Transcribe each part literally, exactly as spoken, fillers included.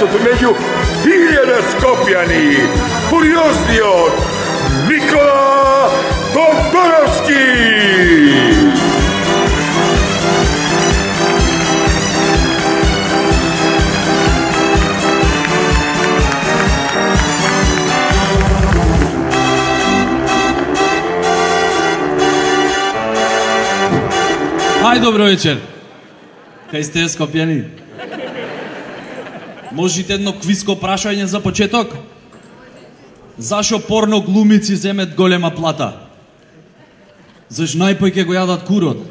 месецот меѓу илјада Скопјани, фуриозниот Никола Тодоровски. Ај, добро вечер. Кај сте, Скопјани? Можете едно квизко прашање за почеток? Зашо порно глумици земет голема плата? Заш најпој ке го јадат курот?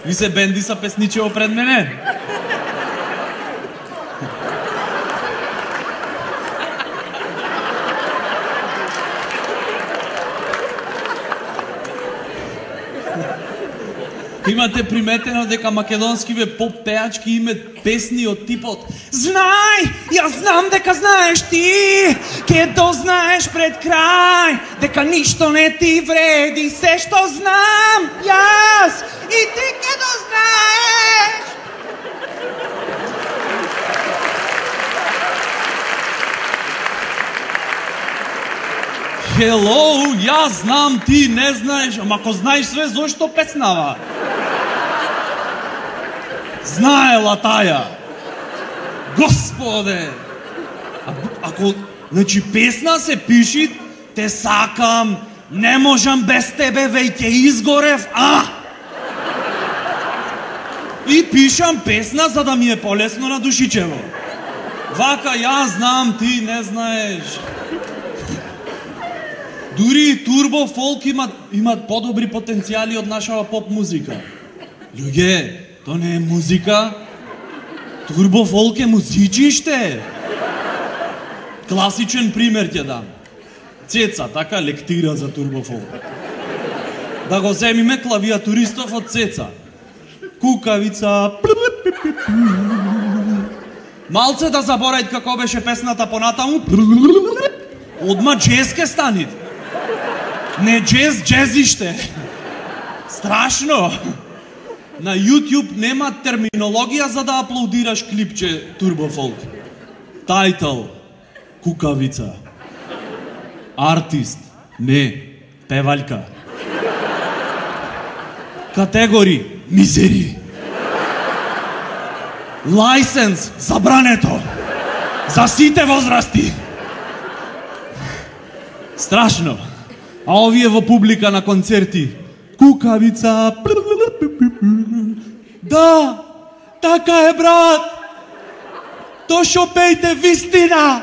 Ви се бенди са песничево пред мене? Имате приметено дека македонскиве поп пеачки имат песни од типот Знај, јас знам дека знаеш ти, ке дознаеш пред крај, дека ништо не ти вреди, се што знам јас и ти ке дознаеш. Hello, јас знам, ти не знаеш, ама ако знаеш све, зошто песнава? Знаела таја. Господе! А, ако, значи, песна се пиши, те сакам, не можам без тебе, веќе изгорев, а? И пишам песна за да ми е полесно на душичево. Вака, јас знам, ти не знаеш. Дури и турбо фолк имат, имат подобри потенцијали од нашава поп музика. Луѓе, то не е музика. Турбо фолк е музичиште. Класичен пример ќе дам. Цеца, така лектира за турбо фолк. Да го земиме клавиатуристов од Цеца. Кукавица. Малце да заборајат како беше песната понатаму. Одма джез ке станит. Не джез, джезиште. Страшно. На YouTube нема терминологија за да аплодираш клипче Турбо Фолк. Тајтл Кукавица. Артист не, певалјка. Категори мизери. Лајсенс забрането. За сите возрасти. Страшно. А овие во публика на концерти. Кукавица. Да, така е, брат. То шо пејте вистина.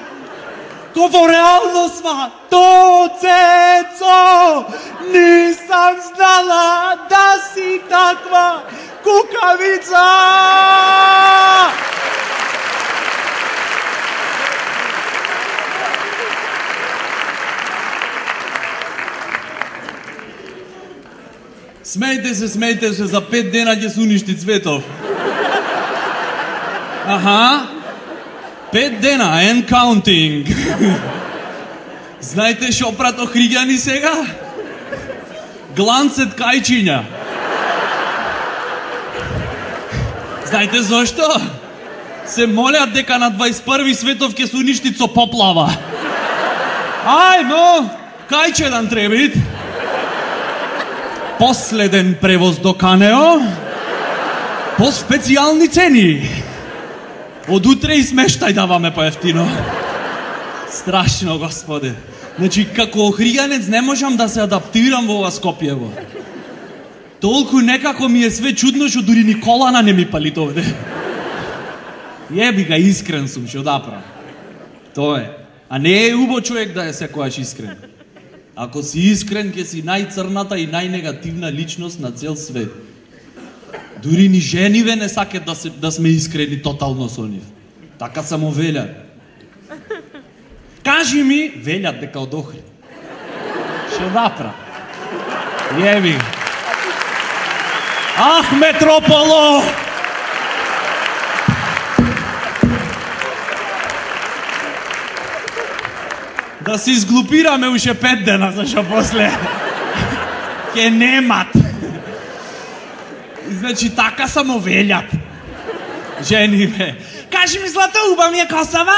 Ко во реалност, ма. То, Цецо, нисам знала да си таква кукавица. Смејте се, смејте се, за пет дена ќе се уништи Цветов. Аха. Пет дена, and counting. Знаете шо прато Хриѓани сега? Гланцет кајчиња. Знаете зошто? Се молят дека на двајсет и први Светов ќе се уништи со поплава. Ајмо, кајчедан требит. Последен превоз до Канео по специјални цени. Од утре и смештај даваме поевтино. Страшно, господе. Значи, како охријанец не можам да се адаптирам во ова Скопјево. Толку некако ми е све чудно, што дури ни колана не ми палит овде. Јеби га, искрен сум, што да правам. Тоа е. А не е убо човек да е секојаш искрен. Ако си искрен, ќе си најцрната и најнегативна личност на цел свет. Дури ни жениве не сакат да, се, да сме искрени тотално со нив. Така само велят. Кажи ми, велят дека од Охрид. Шо напра? Јеби. Ах, Метрополо! Да се изглупираме уште пет дена, зашо после ке немат. Значи така само велјат. Жени бе. Кажи ми, злато, уба ми е косава?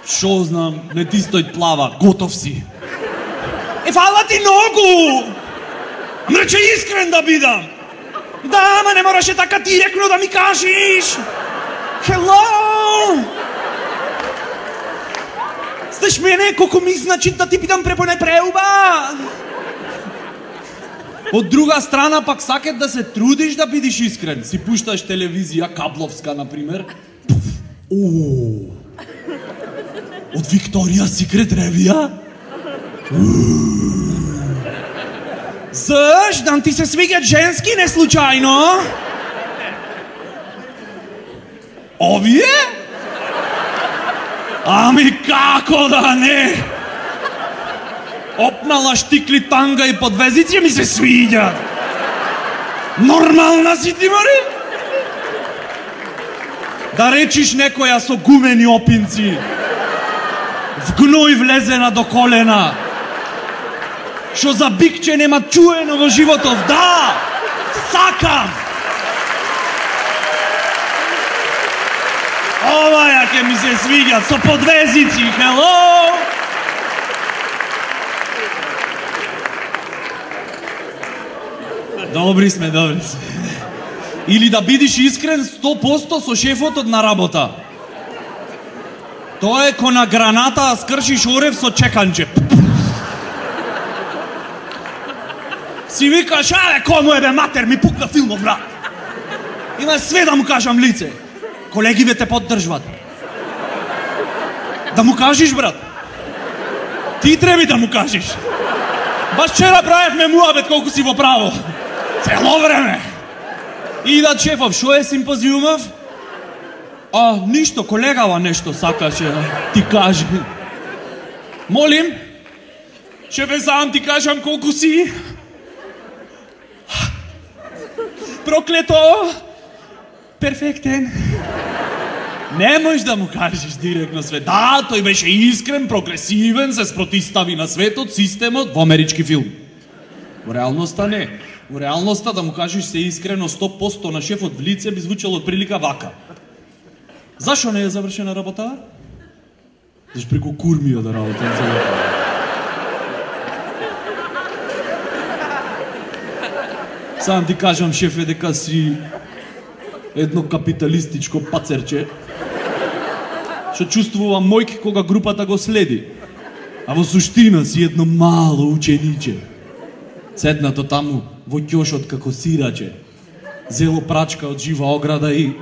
Шо знам, не ти стој плава, готов си. Е, фала ти многу! Ам рече искрен да бидам. Да, ама не мораше така директно да ми кажеш. Hello! Знаеш мене, колко ми значи да ти бидам препоне преуба. Од друга страна пак сакат да се трудиш да бидиш искрен. Си пушташ телевизија, кабловска, например. О, од Викторија Секрет ревија? Зашто ти се свиѓат женски не случајно? Овие? Ами како да не? Опнала штикли танга и подвезици ми се свиѓат. Нормална си ти, мари? Да речиш некоја со гумени опинци, в гној влезена до колена, шо за бикче нема чуено во животов. Да, сакам. Оваја ке ми се свиѓат со подвезици, hello! Добри сме, добри сме. Или да бидиш искрен сто проценти со шефотот на работа. Тоа е ко на граната, а скршиш орев со чеканче. Си викаш, аре, кому е бе матер, ми пукна филмов, брат. Има све да му кажам лице. Колегиве те поддржват. Да му кажеш, брат. Ти треби да му кажеш. Баш вчера правевме муабет колку си во право. Цело време. И да шефов, шо е симпозиумов? А, ништо, колегава нешто сакаше ти каже. Молим? Шефе, сам ти кажам колку си. Проклето. Перфектен. Не можеш да му кажеш директно свет. Да, тој беше искрен, прогресивен, се спротистави на светот, системот, во амерички филм. Во реалноста не. Во реалноста да му кажеш се искрено сто проценти на шефот в лице би звучало отприлика вака. Зашо не е завршена работа? Зашто преку курмија да работам за работа. Сам ти кажам, шефе, дека си едно капиталистичко пацерче, што чувствува мојк кога групата го следи, а во суштина си едно мало учениче, седнато таму во ќошот како сираче, зело прачка од жива ограда и...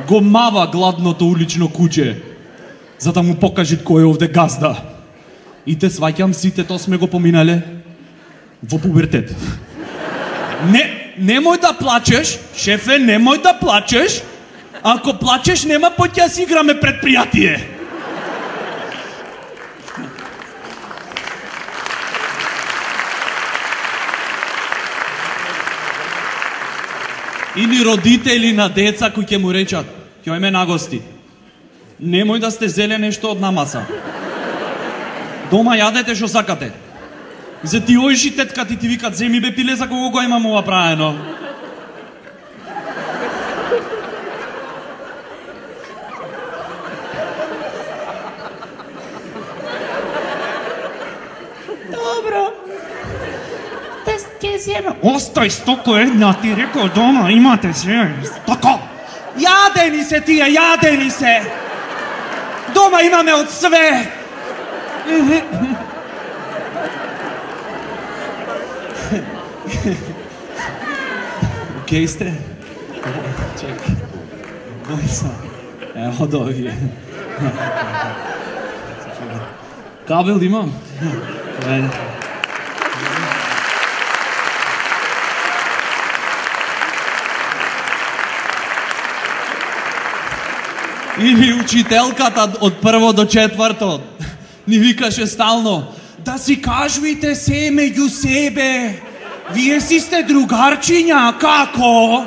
го мава гладното улично куче, за да му покаже кој е овде газда. И те сваќам, сите то сме го поминале во пубертет. Не, немој да плачеш, шефе, немој да плачеш. Ако плачеш, нема поќе да си играме предпријатие. Или родители на деца кои ќе му речат, ќе ме нагости. Немој да сте зеле нешто од намаса. Дома јадете што сакате. За ти ојши тетка ти ти викат, земи бе пиле за кого го имам ова праено. Добро. Да ќе земе. Остој стоко една, ти рекол дома, имате се. Тако! Јадени се тие, јадени се! Дома имаме од све! Океј сте? Чекай. Бој сам. Ево од овие. Кабел имам? Или учителката од прво до четврто ни викаше стално, да си кажувате се меѓу себе, вие си сте другарчиња, како?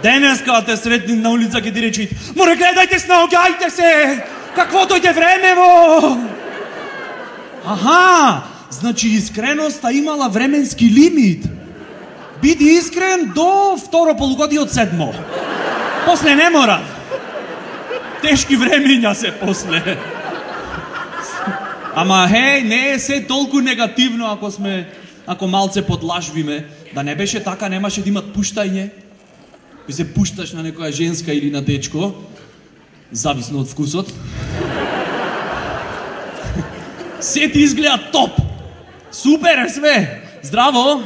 Денеска те сретни на улица ќе ти речи: "Море, гледајте се, наоѓајте се! Какво дојде времево?" Аха, значи искреноста имала временски лимит. Биди искрен до второ полугодие од седмо. После не мора. Тешки времења се после. Ама хеј, не е се толку негативно ако сме, ако малце подлажвиме. Да не беше така, немаше да имат пуштање. Кој се пушташ на некоја женска или на дечко, зависно од вкусот. Се ти изгледа топ. Супер е све. Здраво.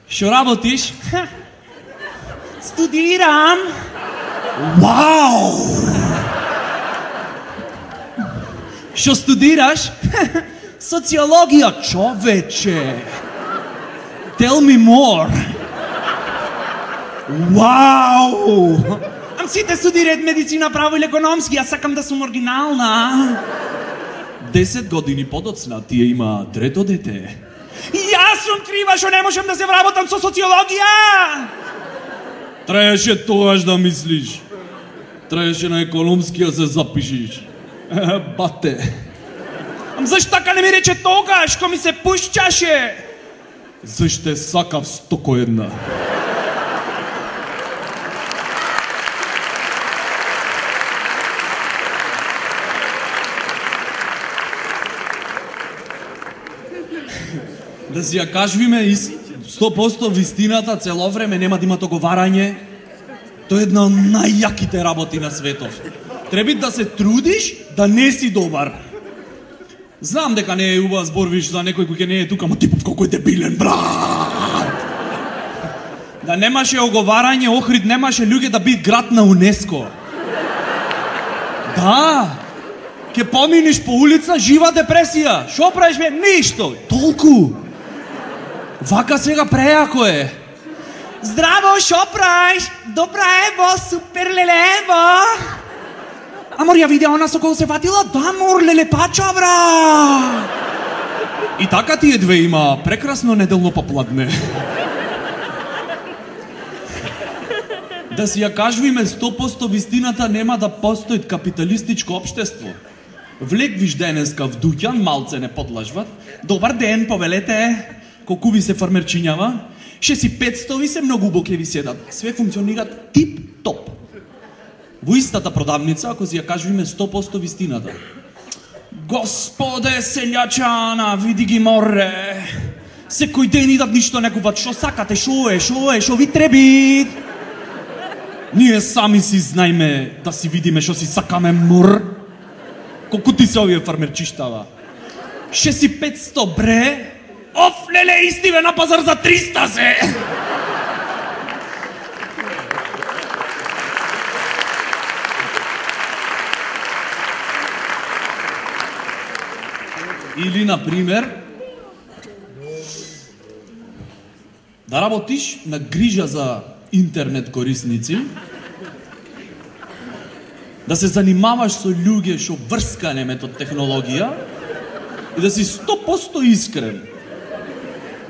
Шо работиш? Студирам. Вау! Шо студираш? Социологија, човече. Tell me more. Вау! Ам сите студираат медицина, право или економски, јас сакам да сум оригинална. Десет години подоцна тие има трето дете. Јас сум крива што не можам да се вработам со социологија. Траеше тоаш да мислиш. Траеше на економски да се запишиш. Бате. Ам зашто така не ми рече тогаш, кога ми се пушчаше? Зашто сакав стоко една. Да си ја кажвиме и сто проценти вистината, цело време нема да има договарање. Тоа е една од најјаките работи на светот. Треба да се трудиш да не си добар. Знам дека не е убаво зборвиш за некој кој не е тука, ама типов колку е дебилен, брат. Да немаше оговарање, Охрид немаше луѓе да бит град на УНЕСКО. Да. Ке поминиш по улица, жива депресија. Шо правиш ме? Ништо. Толку. Вака сега преако е. Здраво, шо правиш? Добра ево, супер лелево. Амор, ја видеа она со кого се фатила? Да, мор, лелепача, бра. И така тие две има прекрасно неделно попладне. Да си ја кажвиме сто проценти вистината, нема да постои капиталистичко општество. Влегвиш денеска в дуќан, малце не подлажват. Добар ден, повелете. Колку ви се фармерчињава? Ше си петсто ви се, многу убаво ќе ви седат. Све функционираат тип-топ. Во истата продавница, ако си ја кажвиме сто проценти вистината. Господе селјачана, види ги море. Секој ден идат ништо не купат. Шо сакате, шо е, шо е, шо ви треби? Ние сами си знаеме да си видиме шо си сакаме, мор. Колку ти се овие фармерчиштава? Ше си петсто, бре? Оф, леле, истиве на пазар за триста се! Или, например, да работиш на грижа за интернет корисници, да се занимаваш со луѓе што врскане метод технологија и да си сто проценти искрен.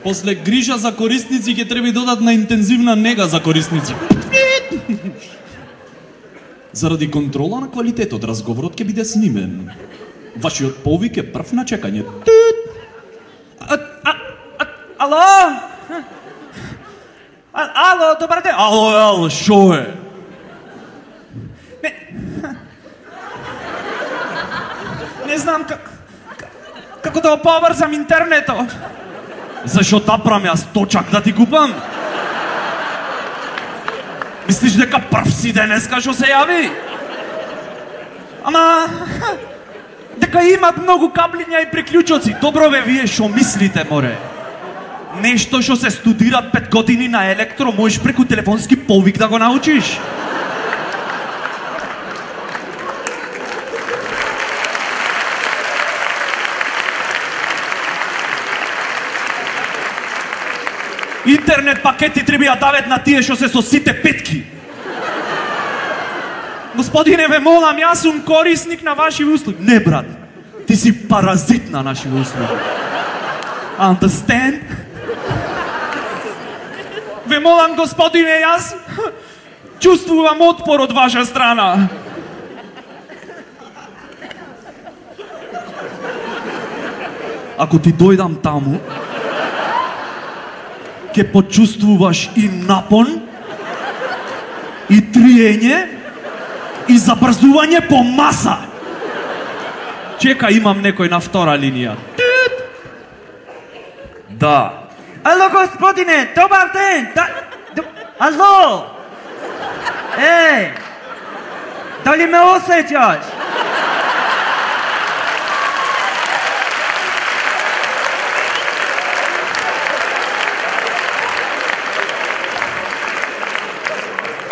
После грижа за корисници ќе треба додат на интензивна нега за корисници. Заради контрола на квалитетот, разговорот ќе биде снимен. Вашиот повик е прв на чекање. А, а, а, ало? А, ало, добар ден. Ало, ало, шо е? Не, не знам как, како да оповрзам интернетот. Зашо тапрам јас точак да ти купам? Мислиш дека прв си денеска што се јави? Ама, дека имат многу каблиња и приклучоци. Добро бе, вие шо мислите, море? Нешто што се студира пет години на електро, можеш преку телефонски повик да го научиш. Интернет пакети треба да дават на тие што се со сите петки. Господине, ве молам, јас сум корисник на ваши услуги. Не, брат, ти си паразит на наши услуги. Understand? Ве молам, господине, јас чувствувам отпор од ваша страна. Ако ти дојдам таму, ќе почувствуваш и напон, и триење, и забрзување по маса. Чека, имам некој на втора линија. Да. Ало, господине, добар ден! Да... Д... Ало! Еј! Дали ме осеќаш?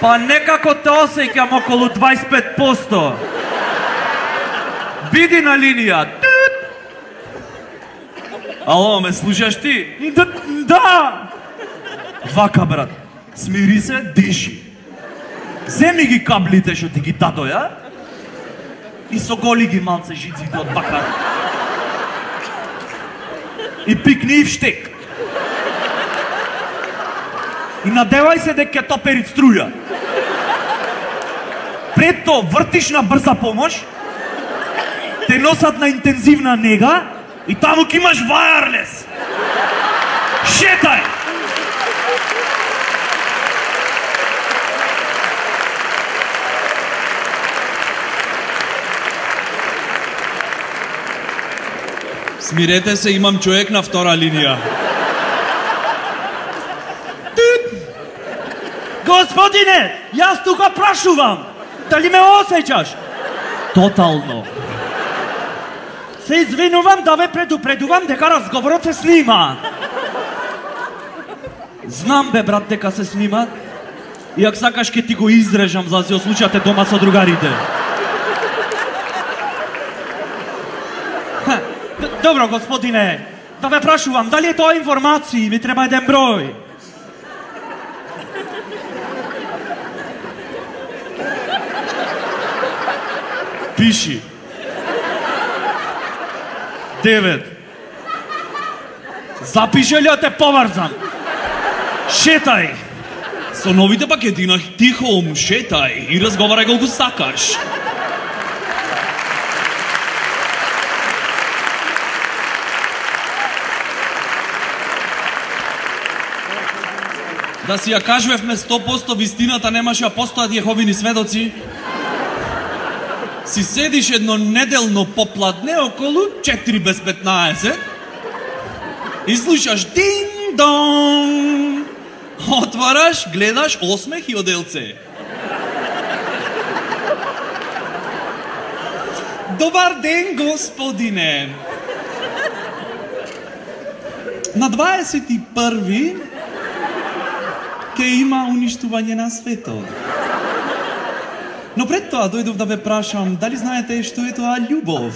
Па некако те осеќам околу дваесет и пет проценти. Биди на линија. Ало, ме слушаш ти? Да, да! Вака, брат. Смири се, диши. Земи ги каблите што ти ги дадо, ја? И соголи ги малце жиците од бакар. И пикни и вштек. И надевај се дека ќе топери струја. Пред то вртиш на брза помош, те носат на интензивна нега и таму ќе имаш вајарлес. Шетај! Смирете се, имам човек на втора линија. Господине, јас тука прашувам. Дали ме осеќаш? Тотално. Се извинувам да ве предупредувам дека разговорот се снима. Знам бе, брат, дека се снима. И ако сакаш ке ти го изрежам за да се ослучате дома со другарите. Ха, добро, господине. Да ве прашувам, дали е тоа информации? Ми треба еден број. Пиши. Девет. Запиши ли да те поврзам? Шетај. Со новите пакети на Тихом, шетај и разговарај колку сакаш. Да си ја кажувевме сто проценти вистината, немаше да постојат Јеховини сведоци. Си седиш едно неделно попладне околу четири без петнаесет и слушаш динг-донг. Отвараш, гледаш осмех и оделце. Добар ден, господине. На дваесет и први ќе има уништување на светот. Но пред тоа дојдов да ве прашам, дали знаете што е тоа љубов?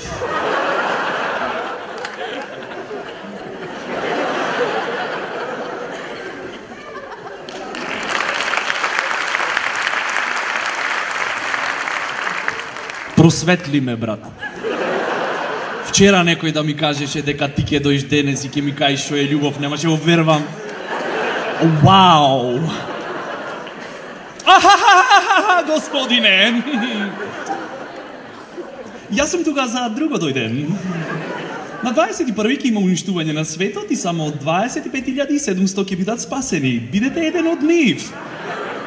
Просветли ме, брат. Вчера некој да ми кажеше дека ти ќе дојдеш денес и ќе ми кажеш што е љубов, немаше да вервам. Вау! Ахахахаха, господине! Јас сум тука за друго дојдем. На дваесет и први ќе има уништување на светот и само дваесет и пет илјади и седумстотини ќе бидат спасени. Бидете еден од нив.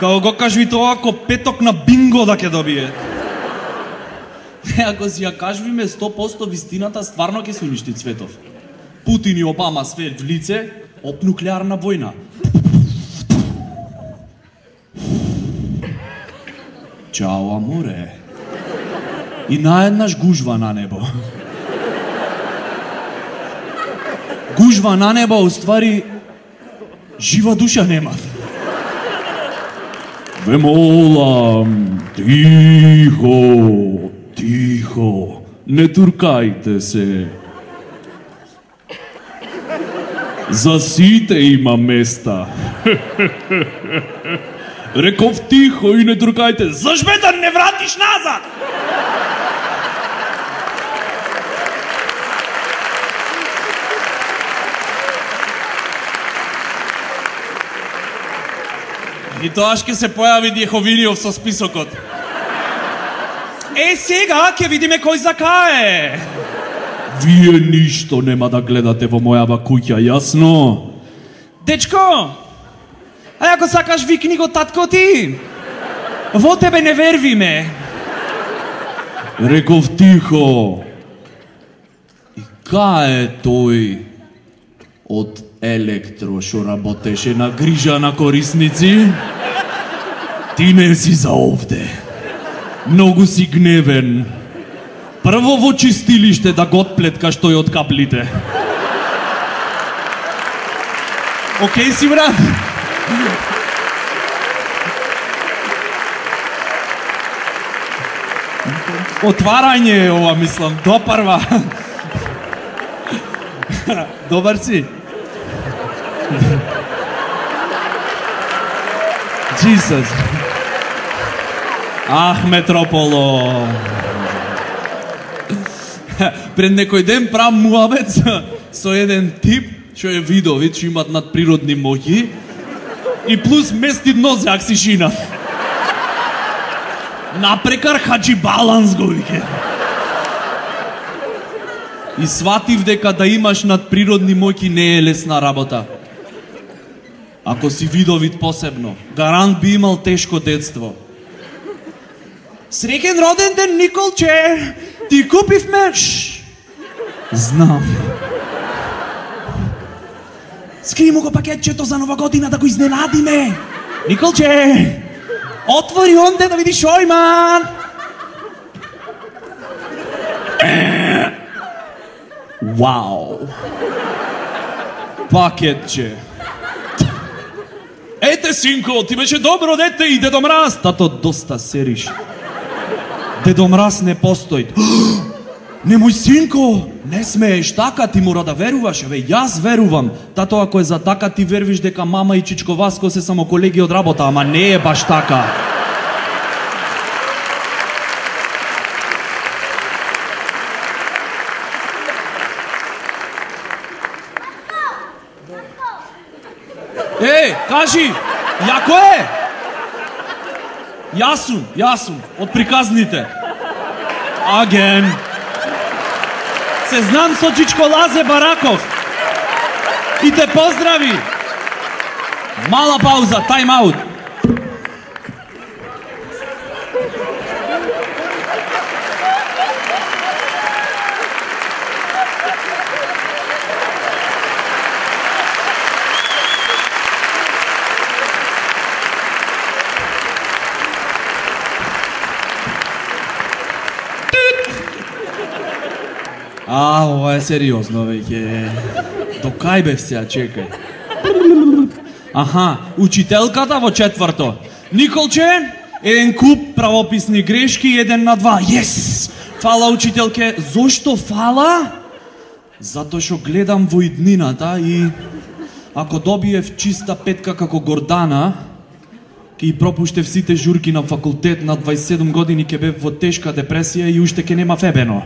Као го кажи тоа, ако петок на бинго да ќе добие. Ако си ја кажуваме сто проценти вистината, стварно ќе се уништи светов. Путин и Обама све в лице, об нуклеарна војна. Чао, аморе. И наеднаш гужва на небо. Гужва на небо, уствари, жива душа нема. Ве молам, тихо, тихо, не туркајте се. За сите има места. Реков тихо и не туркајте. Зашто да не вратиш назад? И тоа ќе се појави Дјеховиниов со списокот. Е, сега ќе видиме кој за кае. Вие ништо нема да гледате во мојава куќа, јасно? Дечко, а ако сакаш викни го татко ти. Во тебе не вервиме. Реков тихо. И кај е тој од Електро шо работеше на грижа на корисници? Ти не си за овде. Многу си гневен. Прво во чистилиште да го отплеткаш тој од каплите. Океј си, брат? Отварање е ова, мислам, допрва. Добар си? Jesus. Ах, Метрополо. Пред некој ден прав муабет со еден тип што е видовит, што имат надприродни моќи и плюс мести дно за аксишина. Напрекар хаджи баланс го вике. И сватив дека да имаш надприродни моќи не е лесна работа. Ако си видовит посебно, гарант би имал тешко детство. Среќен роден ден, Николче! Ти купивме... Знам. Скри му го пакетчето за нова година да го изненадиме. Николче! Отвори онде да видиш Шојман! Вау! Пакетче. Ете, синко, ти беше добро дете и Дедо Мраз. Тато, доста сериш. Дедо Мраз не постои. Немој, синко, не смееш така, ти мора да веруваш. Еве, јас верувам. Тато, ако е за така, ти вервиш дека мама и Чичко Васко се само колеги од работа, ама не е баш така. Еј, кажи, јако е? Јасум, јасум, од приказните. Аген. Се знам со Чичко Лазе Бараков. И те поздрави. Мала пауза, тайм аут. А, ова е сериозно веќе. До кај бев сега, чекај. Аха, учителката во четврто. Николче, еден куп правописни грешки, еден на два. Јес! Фала, учителке. Зошто фала? Затоа што гледам во иднината и ако добиев чиста петка како Гордана, ќе и пропуштев сите журки на факултет, на дваесет и седум години ќе бев во тешка депресија и уште ќе нема фебено.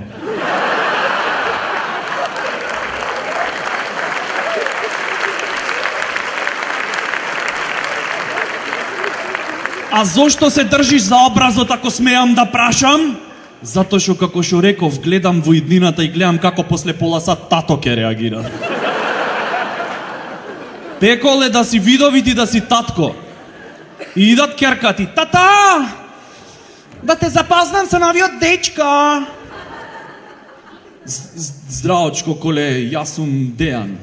А зошто се држиш за образот ако смеам да прашам? Затоа што како што реков, гледам во иднината и гледам како после пола сат тато ќе реагира. Пеколе да си видовит и да си татко. И идат керкати. Тата! Да те запазнам со новиот дечко. Здравочко, коле, јас сум Дејан.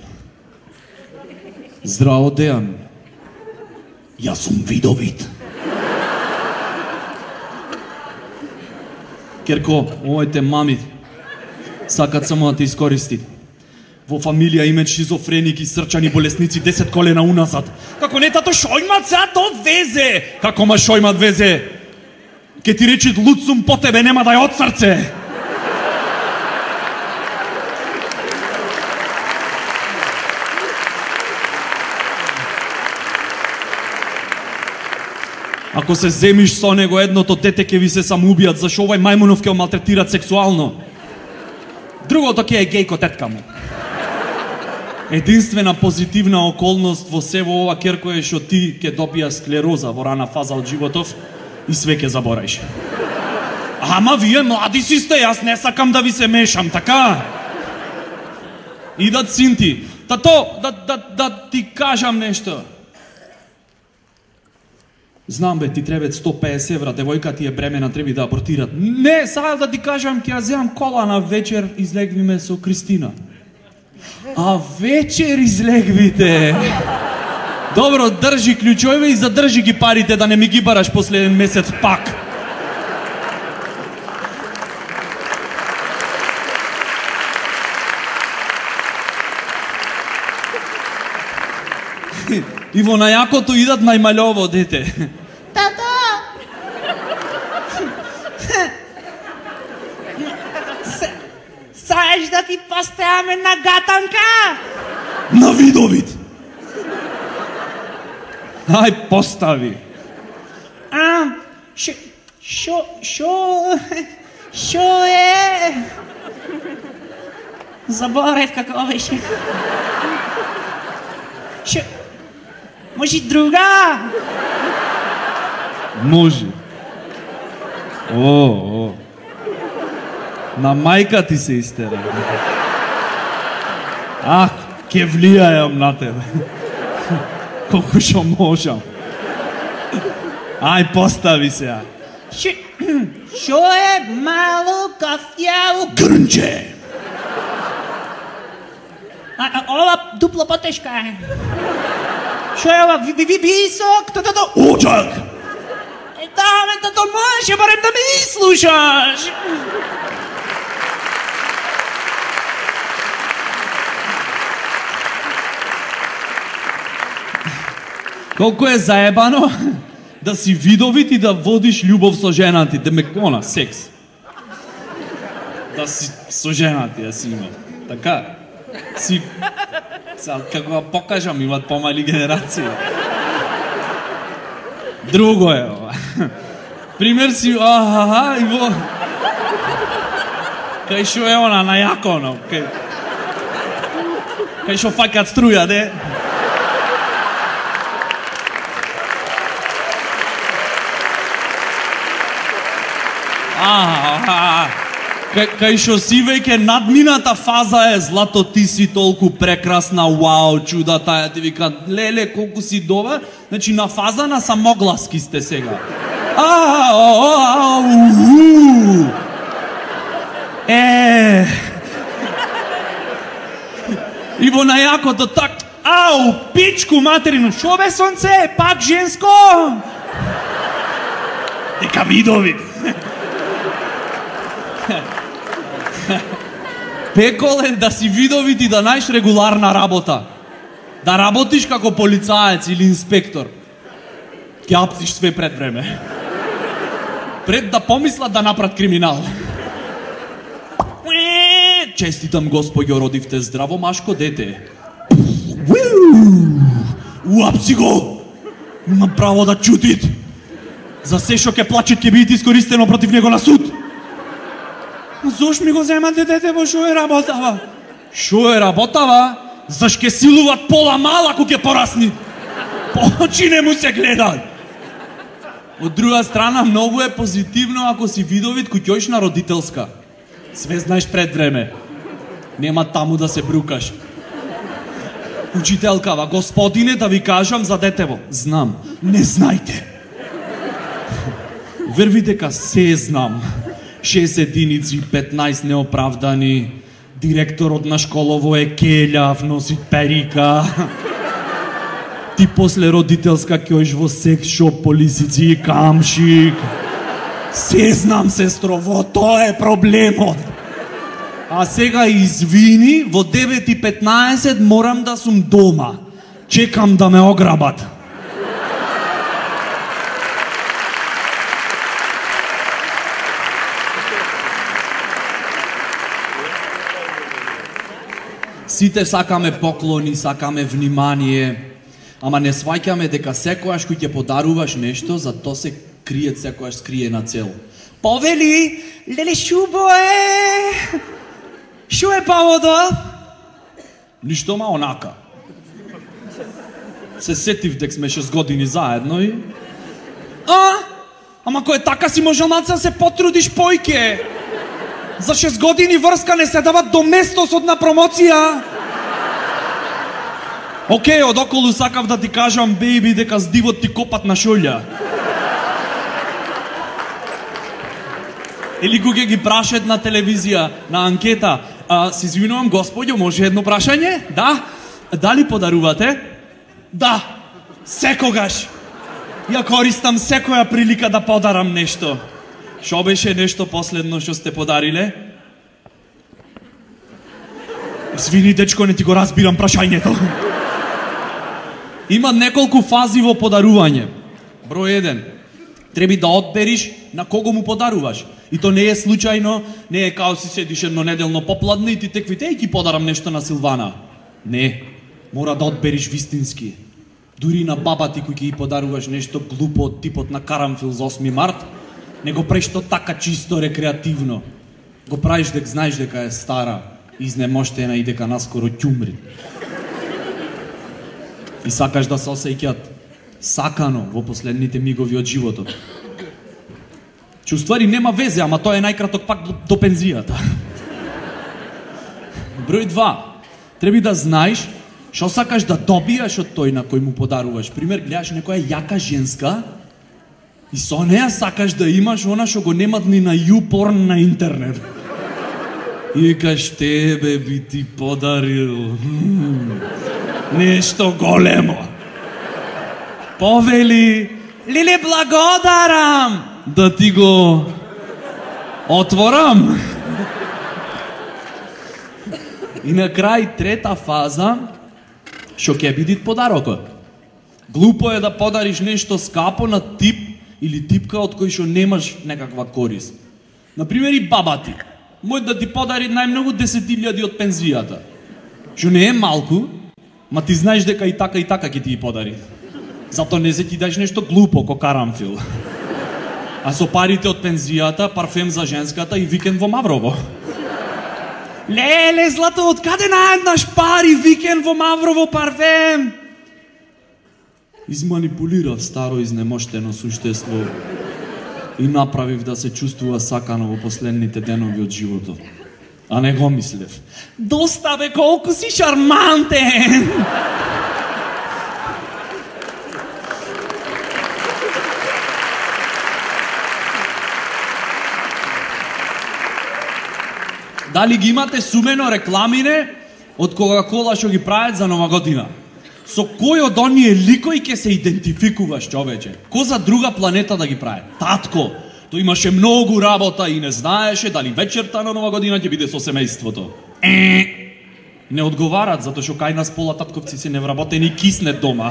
Здраво, Дејан. Јас сум видовит. Керко, овојте мами сакат само да те искористи. Во фамилија имаат шизофреник и срчани болесници десет колена уназад. Како не тато Шојмат сега то везе. Како ма Шојмат везе? Ке ти речи луд сум по тебе, нема да ја од срце. Ако се земиш со него, едното дете ќе ви се самоубијат, зашо овај мајмунов ќе го малтретират сексуално. Другото ќе е гејко тетка му. Единствена позитивна околност во се во ова керко е што ти ќе добија склероза во рана фаза од животов и све ќе забораиш. Ама вие млади си сте, јас не сакам да ви се мешам, така? Идат синти. Тато, да, да, да ти кажам нешто. Знам бе, ти требат сто песет евра, девојка ти е бремена, треби да абортират. Не, сега да ти кажам, ќе ја земам кола на вечер, излегвиме со Кристина. А вечер излегвите. Добро, држи клучове и задржи ги парите да не ми ги бараш последен месец пак. И во најакото идат најмалово дете. Тато! Саеш да ти поставаме на гатанка? На видовид! Ај, постави. А, шо, шо, шо, шо е? Заборев како беше. Шо, може друга? Може. О, о. На мајка ти се истера. Ах, ке влијајам на тебе. Колку шо можам. Ај, постави се. Шо, шо е мало кафјаво? Грнче. А, а, ова дупло потешка е. Шо е ова? Ви, ви, ви, висок? Тато, Оджак. е, да, ме, тато, може барем да ме изслушаш. Колку е заебано да си видовит и да водиш љубов со жена ти, да ме кона, секс. Да си со жена ти, да си има. Така, си... Сега, како да покажам, имат помали генерации. Друго е ова. Пример си, ахаха, и во... Кај шо е она, на јаконо, кај... Кај шо факат струја, де? Аха, кај, кај шо си веќе надмината фаза е злато, ти си толку прекрасна, вау, чуда таја, ти вика, леле, колку си добар, значи на фаза на самогласки сте сега. А, Е. И во најакото так, ау, пичку материну, шо бе сонце, пак женско? Дека видови. Пекол е да си видовит и да најш регуларна работа. Да работиш како полицаец или инспектор. Ќе апсиш све пред време. Пред да помислат да направат криминал. Честитам, господјо, родивте здраво машко дете. Уапси го! Има право да чутит. За се шо ќе плачет ќе биде искористено против него на суд. Зош ми го земате дете, во шо е работава? Шо е работава? Заш ке силуват пола мала ако ќе порасни? По очи не му се гледа. Од друга страна, многу е позитивно ако си видовит кој ќоиш на родителска. Све знаеш пред време. Нема таму да се брукаш. Учителкава, господине, да ви кажам за детево. Знам, не знајте. Верви дека се знам. шест единици, петнаесет неоправдани. Директорот на школово е келјав, носи перика. Ти после родителска ќоиш во секс шоп по лисици и камшик. Се знам, сестрово, тоа е проблемот. А сега извини, во девет и петнаесет морам да сум дома. Чекам да ме ограбат. Сите сакаме поклони, сакаме внимание, ама не сваќаме дека секојаш кој ќе подаруваш нешто, за тоа се крие секојаш скриена цел. Повели, леле шубо е. Шо е поводот? Ништо ма онака. Се сетив дек сме шест години заедно и... А? Ама кој е така си можел малце да се потрудиш појке. За шест години врска не се дават до местосот на промоција. Океј, од околу сакав да ти кажам, бейби, дека с дивот ти копат на шолја. Или кога ги прашат на телевизија, на анкета, а, се извинувам, господјо, може едно прашање? Да? Дали подарувате? Да, секогаш. Ја користам секоја прилика да подарам нешто. Шо беше нешто последно што сте подариле? Извини, дечко, не ти го разбирам прашањето. Има неколку фази во подарување. Број еден. Треба да одбериш на кого му подаруваш. И то не е случајно, не е као си седиш едно неделно попладне и ти теквите и ти подарам нешто на Силвана. Не, мора да одбериш вистински. Дури на баба ти кој ќе ја подаруваш нешто глупо од типот на карамфил за осми март, не го правиш то така чисто рекреативно. Го правиш дека знаеш дека е стара, изнемоштена и дека наскоро ќе умре. И сакаш да се осеќаат сакано во последните мигови од животот. Че уствари нема везе, ама тоа е најкраток пак до, до пензијата. Број два. Треба да знаеш што сакаш да добиеш од тој на кој му подаруваш. Пример, гледаш некоја јака женска и со неа сакаш да имаш она што го немат ни на YouPorn на интернет. И викаш, тебе би ти подарил нешто големо. Повели, леле, благодарам да ти го отворам. И на крај трета фаза, што ќе биде подарокот. Глупо е да подариш нешто скапо на тип или типка од кој што немаш некаква корис. Например, и баба ти. Мој да ти подари најмногу десет илјади од пензијата. Што не е малку, ма ти знаеш дека и така и така ќе ти ги подари. Зато не се ти даш нешто глупо, ко карамфил. А со парите од пензијата, парфем за женската и викенд во Маврово. Леле, злато, од каде наеднаш пари, викенд во Маврово, парфем? Изманипулирав старо изнемоштено суштество и направив да се чувствува сакано во последните денови од животот. А не го мислев. Доста бе, колку си шармантен! Дали ги имате сумено рекламине од Кока-кола што ги прават за Нова година? Со кој од оние ликои ќе се идентификуваш, човече? Ко за друга планета да ги прават? Татко, тој имаше многу работа и не знаеше дали вечерта на Нова година ќе биде со семејството. Е, не одговарат, затоа што кај нас пола татковци се невработени и киснет дома.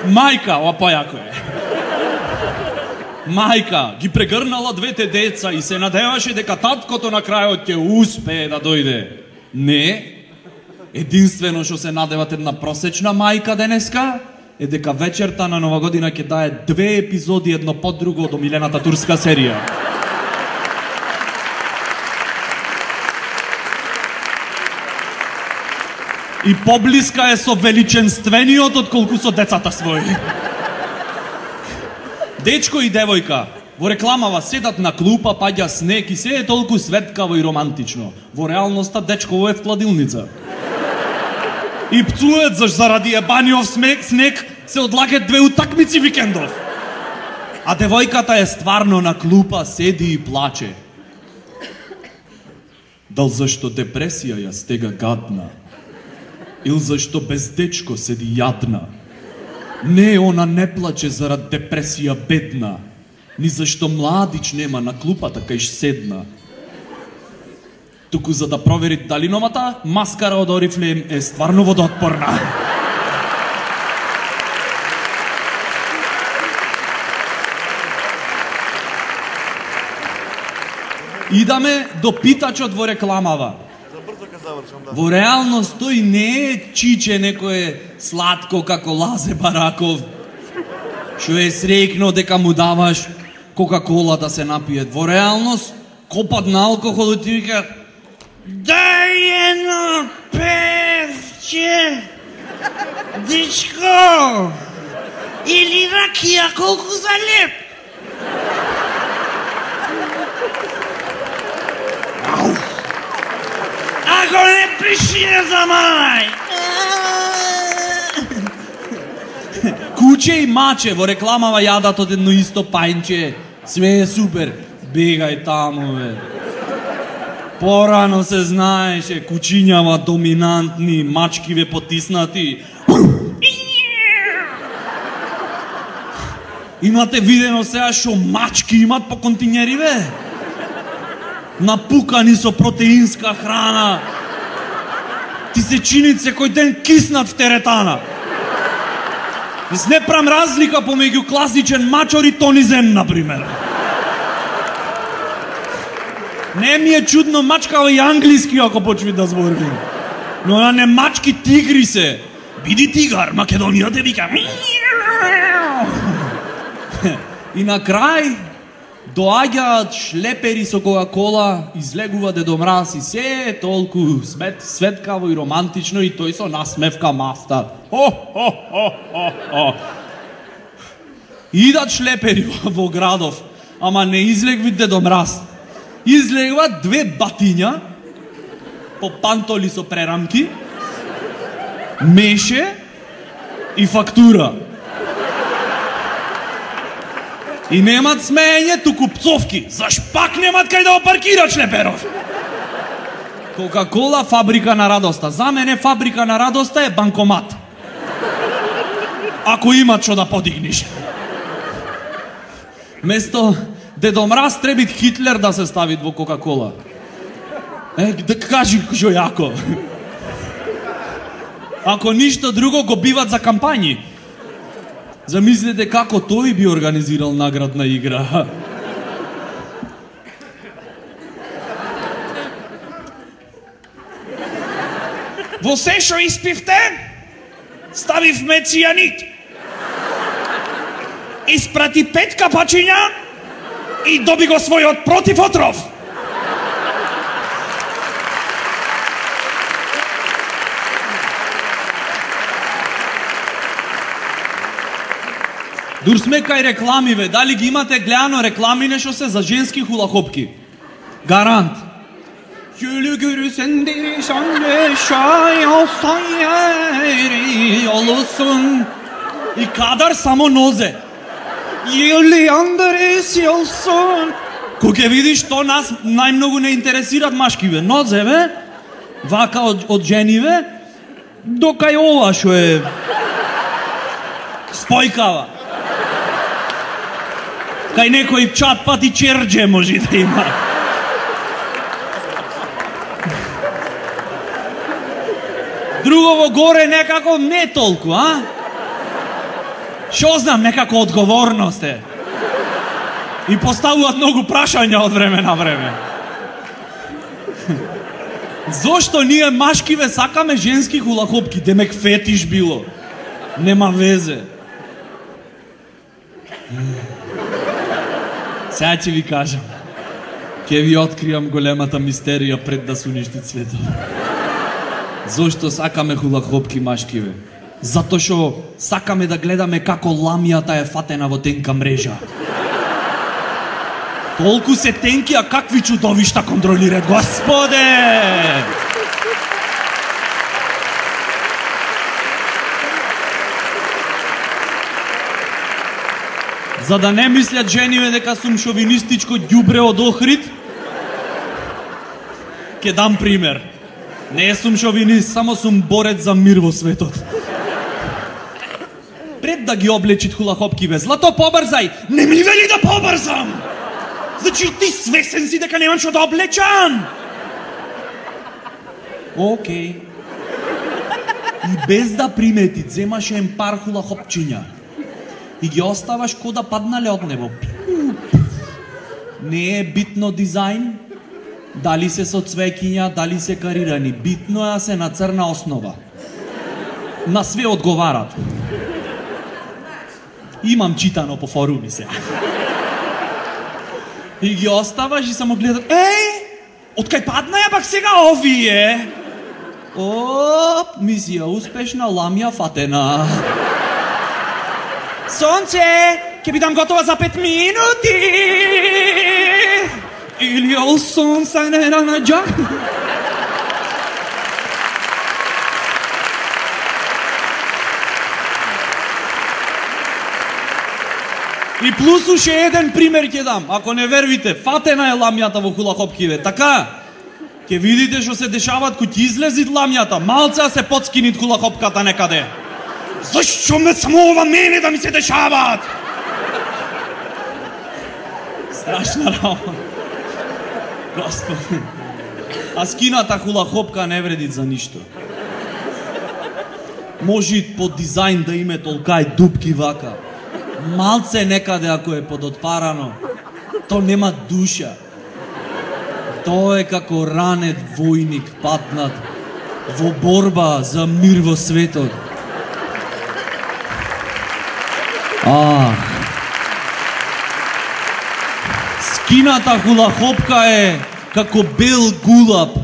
Мајка, ова појако е. Мајка ги прегрнала двете деца и се надеваше дека таткото на крајот ќе успее да дојде. Не. Единствено што се надеват една просечна мајка денеска е дека вечерта на Нова година ќе дае две епизоди едно под друго од омилената турска серија. И поблиска е со величенствениот отколку со децата своји. Дечко и девојка во рекламава седат на клупа, паѓа снег и се е толку светкаво и романтично. Во реалноста дечково е в кладилница. И пцует заш заради ебаниов снег, снег се одлагат две утакмици викендов. А девојката е стварно на клупа, седи и плаче. Дал зашто депресија ја стега гадна? Или зашто без дечко седи јадна? Не, она не плаче зарад депресија бедна, ни зашто младич нема на клупата кај седна. Туку за да провери дали новата маскара од Орифлейм е стварно водоотпорна. Идаме до питачот во рекламава. Во реалност тој не е чиче некое сладко како Лазе Бараков. Што е среќно дека му даваш Кока-кола да се напие. Во реалност, копат на алкохол и ти вика дај едно певче, дечко, или ракија, колку за леп? Ако не пиши, не заманај. Куче и маче во рекламава јадат од едно исто пајнче. Све е супер. Бегај таму, бе. Порано се знаеше, кучињава доминантни, мачкиве потиснати. Имате видено сега што мачки имат по континери, бе? Напукани со протеинска храна. Ти се чинит секој ден киснат в теретана. Мис не прам разлика помеѓу класичен мачор и тонизен, например. Не ми е чудно мачкава и англиски ако почви да зборим. Но на не мачки тигри се. Биди тигар, Македонија те вика. И на крај доаѓаат шлепери со Кока-кола, излегува Дедо Мраз и се е толку свет, светкаво и романтично и тој со насмевка мафта. Хо, хо, хо, хо, хо. Идат шлепери во, во градов, ама не излегви Дедо Мраз. Излегват две батиња, по пантоли со прерамки, меше и фактура. И немат смеење, туку пцовки. Заш пак немат кај да опаркират шлеперов? Кока-кола фабрика на радоста. За мене фабрика на радоста е банкомат. Ако имат што да подигниш. Место Дедо Мраз требит Хитлер да се ставит во Кока-кола. Е, да кажи што јако. Ако ништо друго го биват за кампањи. Замислете како тој би организирал наградна игра. Во се што испивте, ставивме цијанид. Испрати пет капачиња и доби го својот противотров. Дур сме кај реклами, бе. Дали ги имате гледано реклами нешто се за женски хулахопки? Гарант. Şöyle görürsen derişanlı şay olsan yeri olursun. I kadar samo noze. Ili Andres olsun. Кога видиш то нас најмногу не интересираат машки, бе. Нозе, бе. Вака од, од жени, бе. До кај ова шо е спојкава. Кај некој чат пати черџе може да има. Другово горе некако не толку, а? Шо знам, некако одговорност е. И поставуваат многу прашања од време на време. Зошто ние машкиве сакаме женски хулахопки? Демек фетиш било. Нема везе. Сега ќе ви кажам. Ќе ви откриам големата мистерија пред да се уништи светот. Зошто сакаме хулахопки машкиве? Затоа што сакаме да гледаме како ламијата е фатена во тенка мрежа. Толку се тенки, а какви чудовишта контролираат, Господе! За да не мислят жениве дека сум шовинистичко ѓубре од Охрид, ќе дам пример. Не сум шовинист, само сум борец за мир во светот. Пред да ги облечит хулахопки бе, злато побрзај! Не ми вели да побрзам! Значи ти свесен си дека немам што да облечам! Океј. И без да примети, земаш ен пар хулахопчиња. И ги оставаш ко да паднале од небо. Не е битно дизајн, дали се со цвеќиња, дали се карирани. Битно е се на црна основа. На све одговарат. Имам читано по форуми се. И ги оставаш и само гледат, еј, откај падна ја пак сега овие? Оп, мисија успешна, ламја фатена. Сонце, ќе бидам готова за пет минути. Или олсон са не на джак. И плюс уште еден пример ќе дам. Ако не вервите, фатена е ламјата во хулахопкиве. Така, ќе видите што се дешават кој ќе излезит ламјата. Малце се подскинит хулахопката некаде. Зашто ме само ова мене да ми се дешават? Страшна работа. Господи. А скината хулахопка не вреди за ништо. Може по дизајн да име толкај дупки вака. Малце некаде ако е подотпарано, то нема душа. Тоа е како ранет војник патнат во борба за мир во светот. Ах. Скината хулахопка е како бел гулаб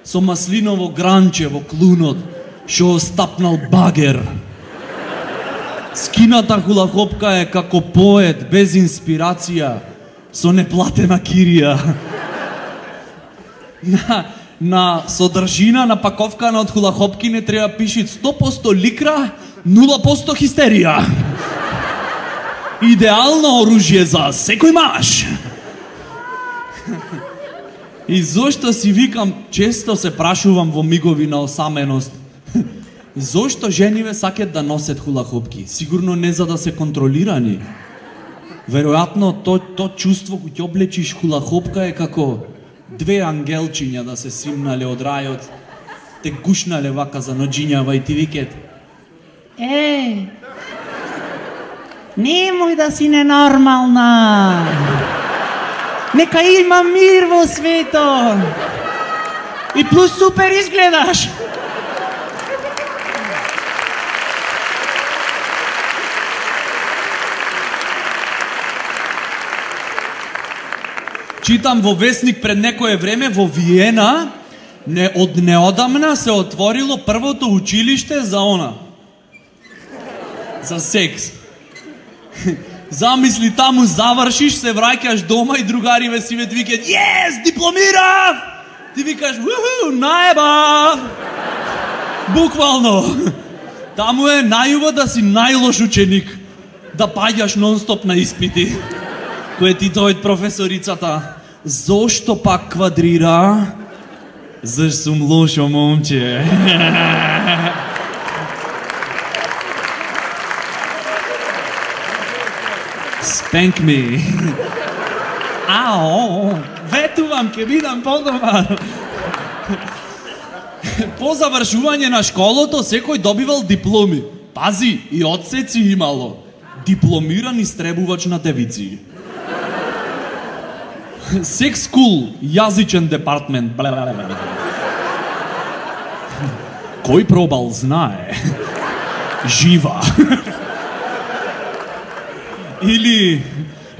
со маслиново гранче во клунот што стапнал багер. Скината хулахопка е како поет без инспирација со неплатена кирија. На, на содржина на паковкана од хулахопки не треба пишит сто проценти ликра, нула проценти хистерија. Идеално оружје за секој маж. И зошто си викам, често се прашувам во мигови на осаменост, зошто жениве сакат да носат хулахопки? Сигурно не за да се контролирани. Веројатно то, то чувство кој ќе облечиш хулахопка е како две ангелчиња да се симнале од рајот, те гушнале вака за ноџињава и ти викет: Е, немој да си ненормална. Нека има мир во светот. И плюс супер изгледаш. Читам во весник пред некое време во Виена, не од неодамна се отворило првото училиште за она. За секс. Замисли, таму завршиш, се враќаш дома и другариве си ве викаат: "Јес, дипломирав!" Ти викаш: "Уху, наебав!" Буквално. Таму е најубаво да си најлош ученик, да паѓаш нон-стоп на испити. Кој ти дојде професорицата: "Зошто пак квадрира?" "Заш сум лошо момче." Spank me. Ао, ветувам, ке бидам подобар. По завршување на школото секој добивал дипломи. Пази, и одсеци имало. Дипломиран истребувач на девици. Секс скул, јазичен департмент. Кој пробал знае. Жива. Или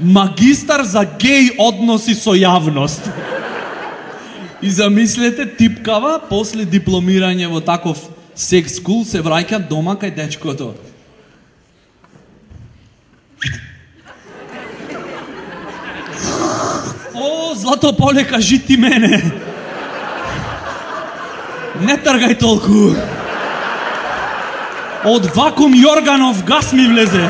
магистар за геј односи со јавност. И замислете, типкава, после дипломирање во таков секс скул, се враќа дома кај дечкото. О, Злато Поле, кажи ти мене. Не тргај толку. Од вакуум Јорганов гас ми влезе.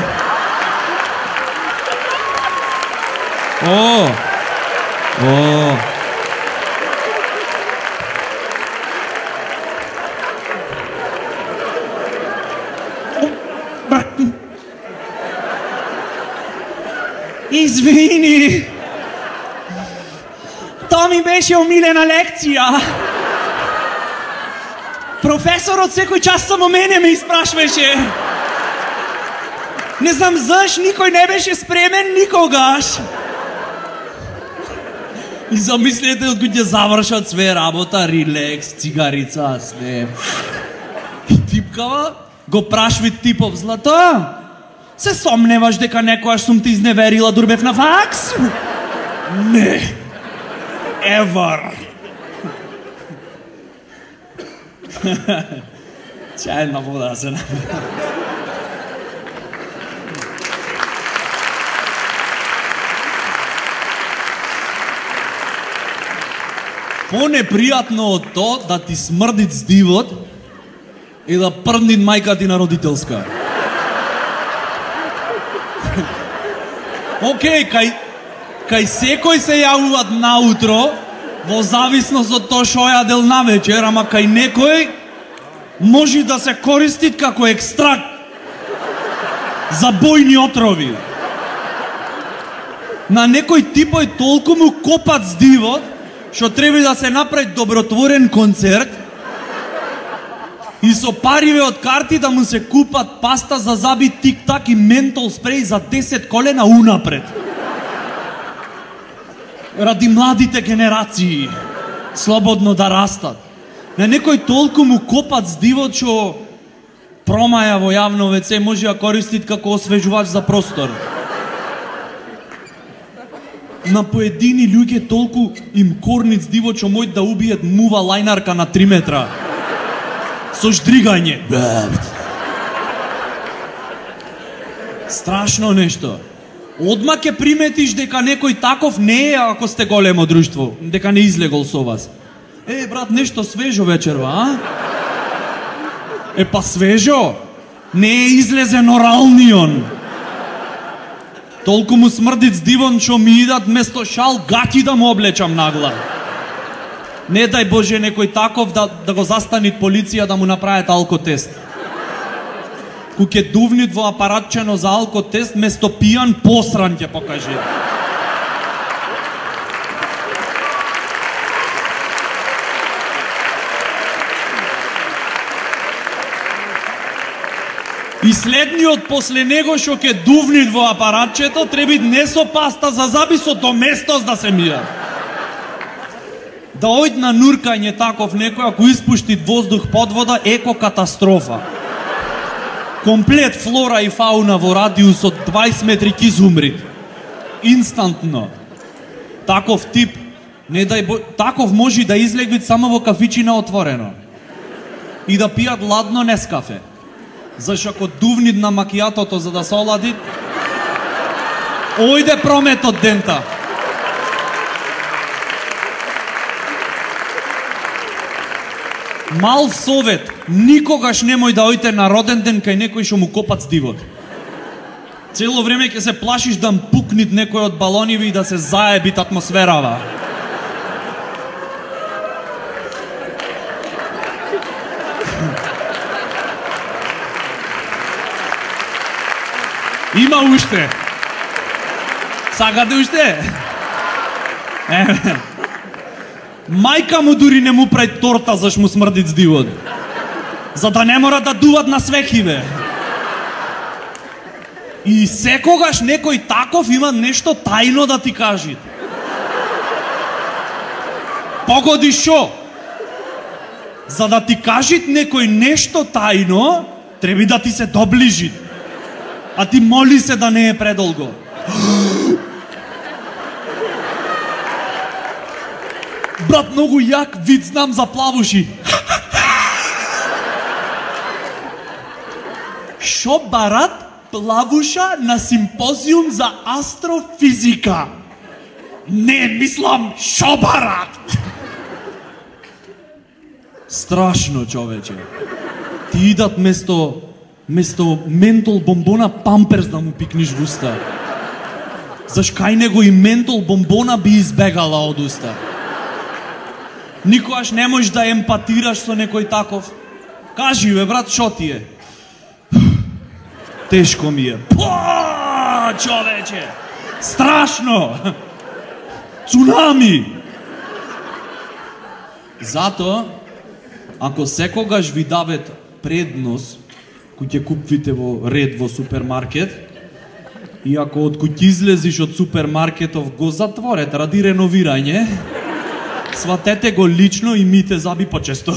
О! О! Извини. Тоа ми беше омилена лекција. Професорот секој час само мене ме испрашваше. Не знам заш, никој не беше спремен никогаш. И замислете од кој ќе завршат све работа, релакс, цигарица, све. И типкава го прашви типов: "Злата, Се сомневаш дека некојаш сум те изневерила Дурбев на факс? Не. Ever. Чајна вода се на... Понепријатно од то да ти смрдит здивот и да прднит мајка ти на родителска. Океј, кај, кај секој се јавуваат наутро, во зависност од тоа шо јадел навечер, ама кај некој може да се користит како екстракт за бојни отрови. На некој типој толку му копат здивот, што треба да се направи добротворен концерт и со париве од карти да му се купат паста за заби, тик-так и ментол спреј за десет колена унапред. Ради младите генерации слободно да растат. На некој толку му копат здивот што промаја во јавно веце може да користит како освежувач за простор. На поедини луѓе толку им корнит здивот што мој да убиет мува лајнарка на три метра. Со ждригање. Страшно нешто. Одма ќе приметиш дека некој таков не е ако сте големо друштво, дека не излегол со вас. Е, брат, нешто свежо вечерва, а? Е, па свежо? Не е излезен оралнион. Толку му смрдит здивон што ми идат место шал гати да му облечам нагла. Не дај Боже некој таков да, да го застанит полиција да му направат алкотест. Ку ќе дувнит во апаратчено за алкотест, место пијан посран ќе покаже. И следниот после него што ќе дувнит во апаратчето треба не со паста за заби, со доместос да се мија. Да ојд на нуркање таков некој, ако испуштит воздух под вода, еко катастрофа. Комплет флора и фауна во радиус од дваесет метри ќе изумрит. Инстантно. Таков тип, не дај бо... таков може да излегвит само во кафичина отворено. И да пијат ладно Нескафе. Зашто ако дувнит на макијатото за да се олади, ојде промет од дента. Мал совет, никогаш немој да ојте на роден ден кај некој што му копат здивот. Цело време ќе се плашиш да пукнит некој од балониве и да се заебит атмосферава. Има уште. Сакате уште? Еве. Мајка му дури не му прави торта заш му смрдит здивот. За да не мора да дуват на свекиве. И секогаш некој таков има нешто тајно да ти кажи. Погоди шо? За да ти кажи некој нешто тајно, треба да ти се доближи. А ти моли се да не е предолго. Брат, многу јак вид знам за плавуши. Шо барат плавуша на симпозиум за астрофизика? Не, мислам, шо барат? Страшно, човече. Ти идат место место ментол бомбона памперс да му пикниш в уста. Заш кај него и ментол бомбона би избегала од уста. Никогаш не можеш да емпатираш со некој таков. Кажи, бе, брат, шо ти е? Тешко ми е. Па, човече! Страшно! Цунами! Зато, ако секогаш ви давет преднос кој ќе купвите во ред во супермаркет, и ако од кој излезиш од супермаркетов го затворете ради реновирање, сватете го лично и мите заби почесто.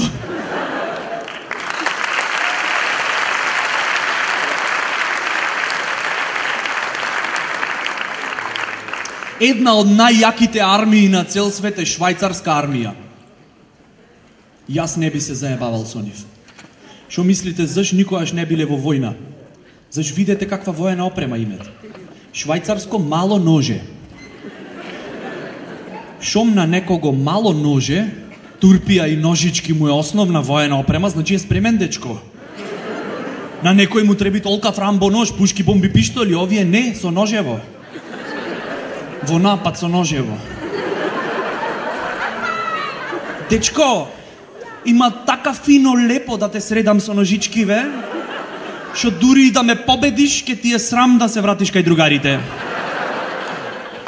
Една од најјаките армии на цел свет е швајцарска армија. Јас не би се заебавал со нив. Шо мислите, заш никогаш не биле во војна? Заш видете каква воена опрема имат? Швајцарско мало ноже. Шом на некого мало ноже, турпија и ножички му е основна воена опрема, значи е спремен дечко. На некој му треби толка фрамбо нож, пушки, бомби, пиштоли, овие не, со ножево. Во напад со ножево. Дечко, има така фино лепо да те средам со ножички, ве, шо дури и да ме победиш, ке ти е срам да се вратиш кај другарите.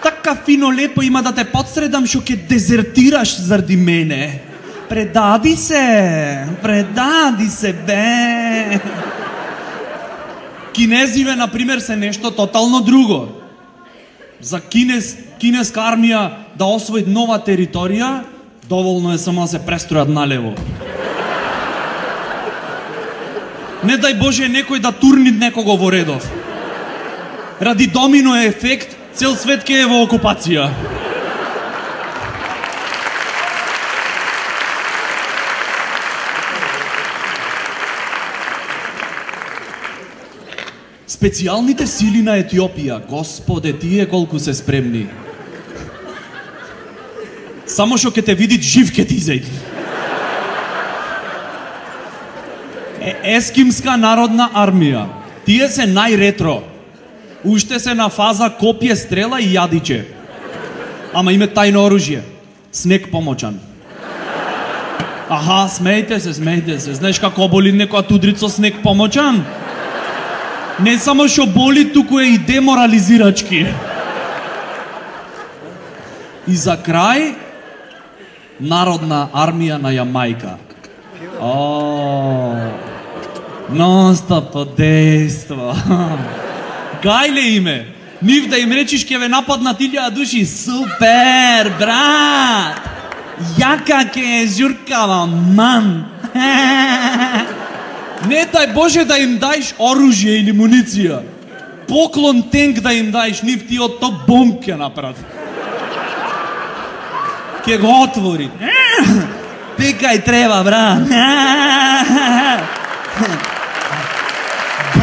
Така фино лепо има да те подсредам, шо ке дезертираш заради мене. Предади се, предади се, бе. Кинезиве, например, се нешто тотално друго. За кинез, кинеска армија да освои нова територија, доволно е само да се престројат налево. Не дај Боже некој да турни некого во редов. Ради домино ефект, цел свет ке е во окупација. Специјалните сили на Етиопија, Господе, тие колку се спремни. Само што ке те видит жив ке ти изејди. Е, Ескимска народна армија. Тие се најретро. Уште се на фаза копје, стрела и јадиче. Ама име тајно оружје. Снег помочан. Аха, смејте се, смејте се. Знаеш како боли некоја тудрица снег помочан? Не само што боли, туку е и деморализирачки. И за крај, народна армија на Јамајка. О, нон-стоп дејство. Гајле име. Нив да им речиш ке ве нападнат илјада души. Супер, брат! Јака ке е журкава, ман! Не дај Боже да им дајш оружје или муниција. Поклон тенк да им дајш, нив ти од то бомб ке направи. Ке го отвори. Пикај треба, брат.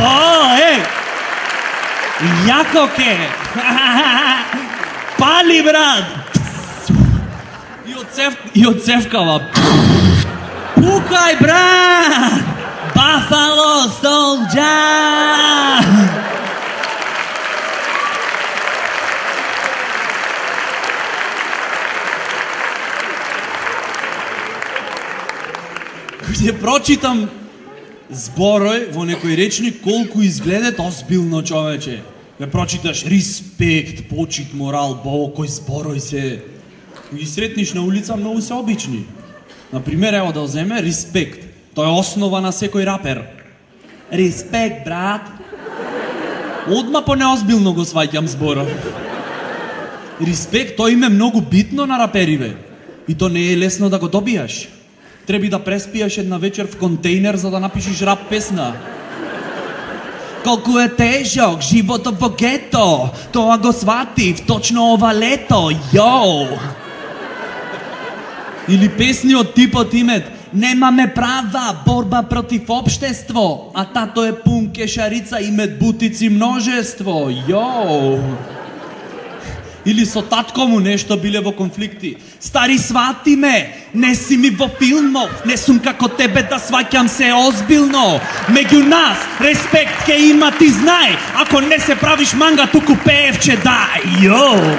О, е! Јако ке! Пали, брат! И од цев... и од цевкава. Пукај, брат! Buffalo Soldier! Ќе прочитам зборој во некој речник колку изгледат озбилно, човече. Ке прочиташ респект, почит, морал, бо кој зборој се. Ги сретниш на улица, многу се обични. Например, ево да земе респект. Тоа е основа на секој рапер. Респект, брат. Одма по неозбилно го сваќам зборов. Респект, тоа име многу битно на рапериве. И то не е лесно да го добијаш. Треби да преспијаш една вечер в контейнер за да напишеш рап песна. Колку е тежок животот во гето, тоа го сватив точно ова лето, јоу. Или песни од типот имет немаме права, борба против општество, а тато е пун кешарица, имет бутици множество, јоу. Или со татко му нешто биле во конфликти. Стари, свати ме, не си ми во филмов, не сум како тебе да сваќам се озбилно. Меѓу нас, респект ке има, ти знај, ако не се правиш манга, туку пеевче дај, јоу.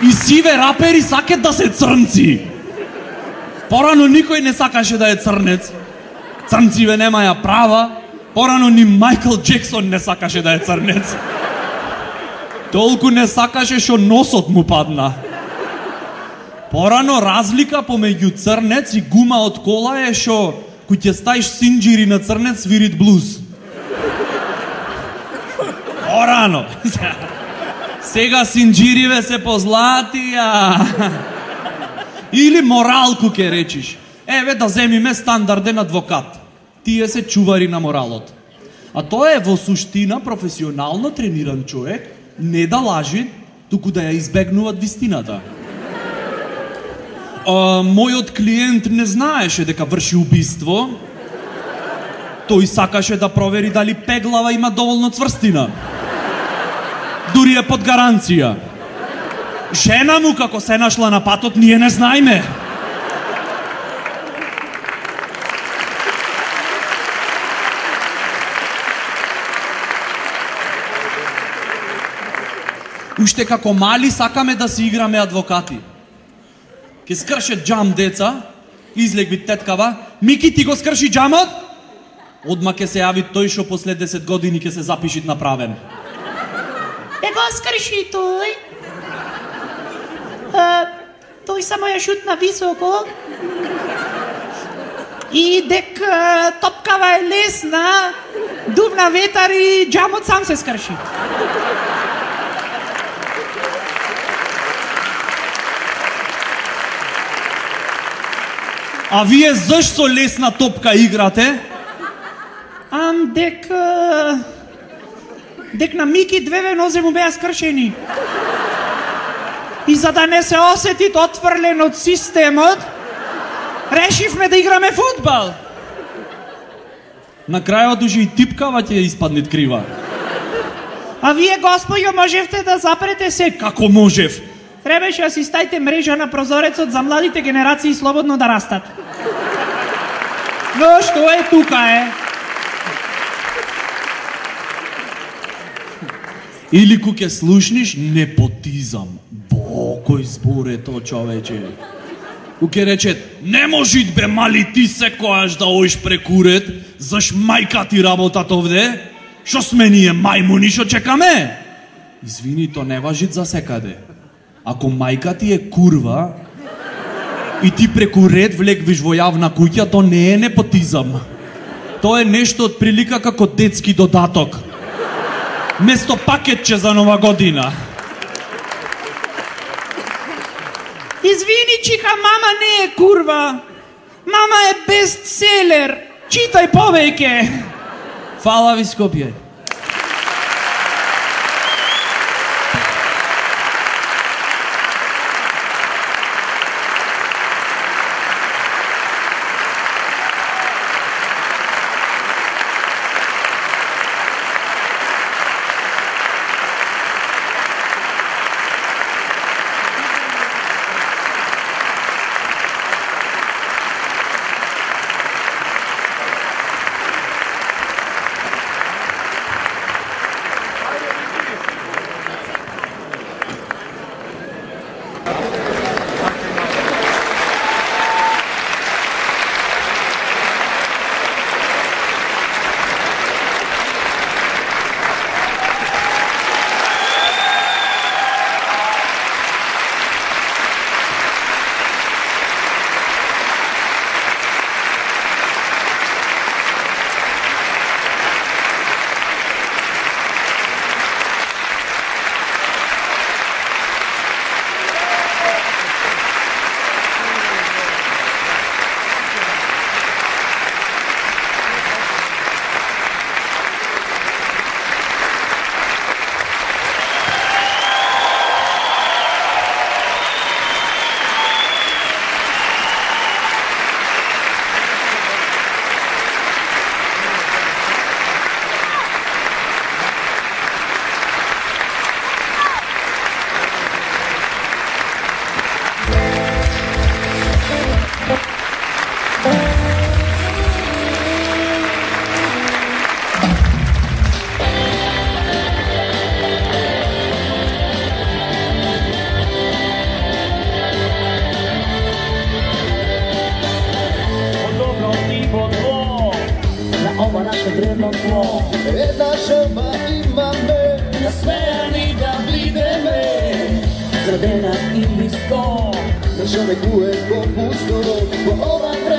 И сиве рапери сакат да се црнци. Порано никој не сакаше да е црнец. Црнциве немаја права. Порано ни Майкл Джексон не сакаше да е црнец. Толку не сакаше што носот му падна. Порано разлика помеѓу црнец и гума од кола е што кој ќе стаиш синџири на црнец свирит блуз. Порано. Сега синџириве се позлатија. Или моралку ке речиш. Еве да земиме стандарден адвокат. тие се чувари на моралот. А тоа е во суштина професионално трениран човек, не да лажи, туку да ја избегнуваат вистината. А, мојот клиент не знаеше дека врши убиство. Тој сакаше да провери дали пеглава има доволно цврстина. Дури е под гаранција. Жена му како се нашла на патот, ние не знаеме. Уште како мали сакаме да си играме адвокати. Ке скрше джам деца, излегви теткава, Мики ти го скрши джамот? Одма ке се јави тој шо после десет години ке се запишит направен. Не го скрши тој. А, тој само ја шутна високо. И дек а, топкава е лесна, дувна ветар и джамот сам се скрши. А вие зашто лесна топка играте? Ам дек... Дек на Мики две нозе му беа скршени. И за да не се осетит отфрлен од системот, решивме да играме фудбал. На крајот уже и типкава ќе испаднет крива. А вие, господјо, можевте да запрете се. Како можев? Требаше да си ставите мрежа на прозорецот за младите генерации слободно да растат. Но што е тука е? Или ку ќе слушниш непотизам. Бо, кој збор е то, човече? Ку ќе речет, не можит бе мали ти секојаш да оиш прекурет, заш мајка ти работат овде? Шо сме ние мајмуни, шо чекаме? Извини, то не важит за секаде. Ако мајка ти е курва и ти преку ред влегвиш во јавна куќа, то не е непотизам. Тоа е нешто од прилика како детски додаток. Место пакетче за нова година. Извини, чиха, мама не е курва. Мама е бестселер. Читај повеќе. Фала ви, Скопје. ова наше древно тło. Една жртва имаме, насмејани да бидеме, зрадена или сто, да човекуе по пустото, по ова време.